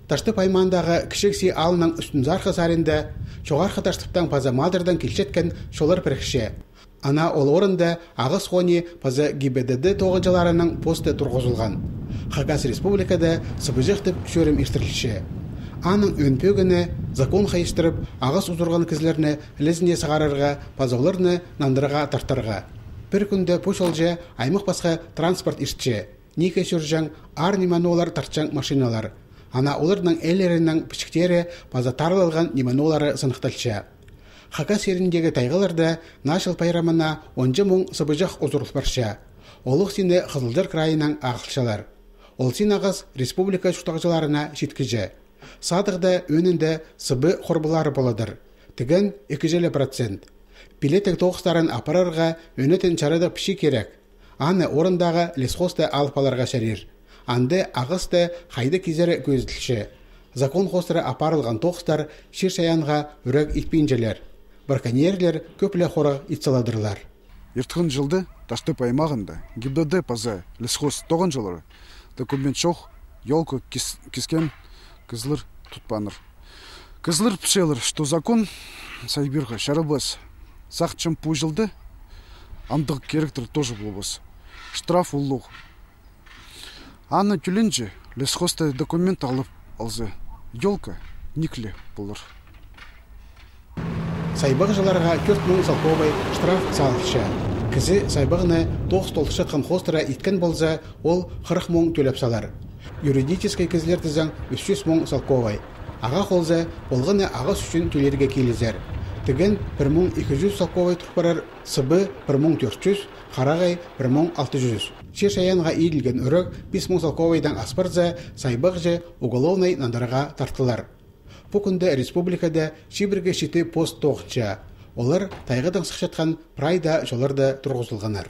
Ташты паймандағы кішікси алының үстін зарқы сарында, жоғарқы таштыптан паза мадырдан келшеткен шолар бірікше. Ана ол орында ағыз хони паза ГИБДД тоғынчаларының посты тұрғызылған. Хакас республикада сыбыжықтып шөрім ештірілші. Аның өнпөгіні закон қайыстырып, ағыз ұзырған кізлеріні лізіне сағарырға, пазауларыны нандырға тартарға. Бір күнді пошолжы аймақ басқа транспорт іштші. Неке сүржаң, ар-неманы олар тартчаң машиналар. Ана олардың әлерінің пішіктері паза тарылылған неманы олары сынықталшы. Хакас еріндегі тайғыларда нашыл пайрамына 10 мың сыбыжақ ұзырыл баршы. Олық сені Қызылжар крайынан ағылшалар. Ол сен ағыз республика шутағжыларына жеткіжі. Садығда өнінде сыбы қорбылары боладыр. Тіген 2%. Пилетек тоғыстарын апарарға өнетін чарады піші керек. Аны орындағы лесхосты алпаларға шәрер. Анды ағысты қайды кезері көзділші. Закон қостыры апарылған тоғыстар шер шаянға үрек итпейінжелер. Браконьерлер көплі қоры итсаладырлар. Ертіғын жылды Ташты паймағында ГИБДД паза лесхоз тоғын жылары документ шоқ елкі кескен кызлыр тұтпаныр. Кызлыр пішелір, что закон сайбирға шарабас сақчым пұжылды, андық керектір тоже болбас. Штраф ұллық. Аны түлінже лесхозты документ алып алзы. Елка никле болыр. Сайбақ жыларға 4 мың салковай штраф салықшы. Кізі сайбағыны 9 толтышы қанхостыра иткен болза, ол 40 мың төлеп салар. Юридическай кізлер тізің 300 мың салковай. Аға қолза, болғыны ағыз үшін төлерге келізер. Тіген 1200 салковай тұрпарар, сыбы 1400, қарағай 1600. Шер шаянға иілген үрік 5000 салковайдан аспарза, сайбақ же уголовнай нандарға тартылар. Бұл күнді республикада шибірге шеті пост тоғытша. Олар тайғыдан сықшатқан прайда жоларда тұрғызылғанар.